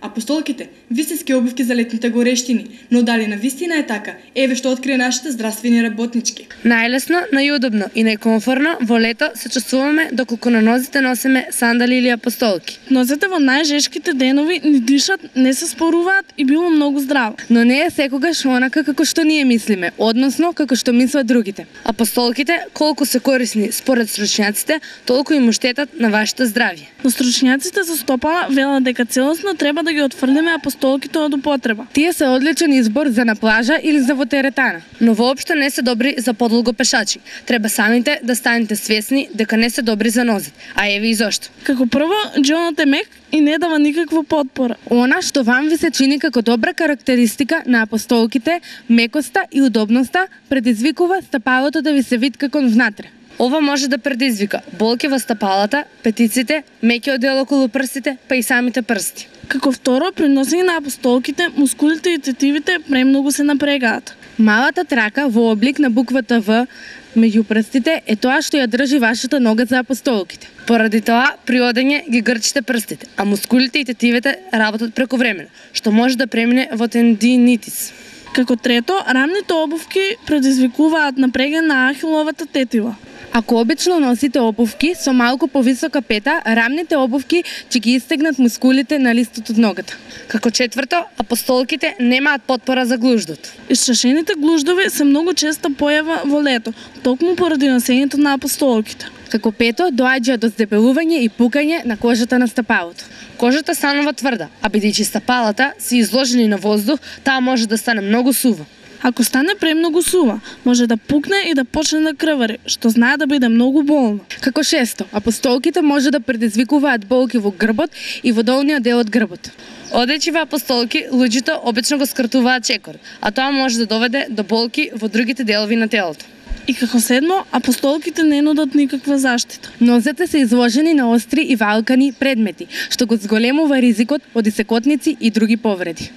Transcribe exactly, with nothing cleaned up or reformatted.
Апостолките, вистински обувки за летните горештини, но дали на вистина е така? Еве што открие нашите здравствени работнички. Најлесно, најудобно и најкомфорно во лето се чувствуваме доколку на нозите носиме сандали или апостолки. Нозете во најжешките денови ни дишат, не се споруваат и било многу здраво. Но не е секогаш онака како што ние мислиме, односно како што мислат другите. Апостолките, колку се корисни според стручњаците, толку им штетат на вашето здравје. Но стручњаците за стопала велат дека целосно треба да ги отфрлиме апостолките од употреба. Тие се одличен избор за на плажа или за во теретана, но воопшто не се добри за подолго пешачи. Треба самите да станете свесни дека не се добри за нозет, а еве и зошто. Како прво, џонот е мек и не дава никаква потпора. Она што вам ви се чини како добра карактеристика на апостолките, мекоста и удобноста, предизвикува стапалото да ви се витка кон внатре. Ова може да предизвика болки во стапалата, петиците, меки одел околу прстите, па и самите прсти. Како второ, при носење на апостолките, мускулите и тетивите премногу се напрегаат. Малата трака во облик на буквата В меѓу прстите е тоа што ја држи вашата нога за апостолките. Поради тоа, при одење ги грчите прстите, а мускулите и тетивите работат прековремено, што може да премине во тендинитис. Како трето, рамните обувки предизвикуваат напреган на ахиловата тетива. Ако обично носите обувки со малку повисока пета, рамните обувки ќе ги истегнат мускулите на листот од ногата. Како четврто, апостолките немаат потпора за глуждот. Исчашените глуждови се многу честа појава во лето, токму поради носењето на апостолките. Како пето, доаѓа до здебелување и пукање на кожата на стапалото. Кожата станува тврда, а бидејќи стапалата се изложени на воздух, таа може да стане многу сува. Ако стане премногу сува, може да пукне и да почне да крвари, што знае да биде многу болно. Како шесто, апостолките може да предизвикуваат болки во грбот и во долниот дел од грбот. Одејќи во апостолки, луѓето обично го скратуваат чекор, а тоа може да доведе до болки во другите делови на телото. И како седмо, апостолките не нудат никаква заштита. Нозете се изложени на остри и валкани предмети, што го зголемува ризикот од исекотници и други повреди.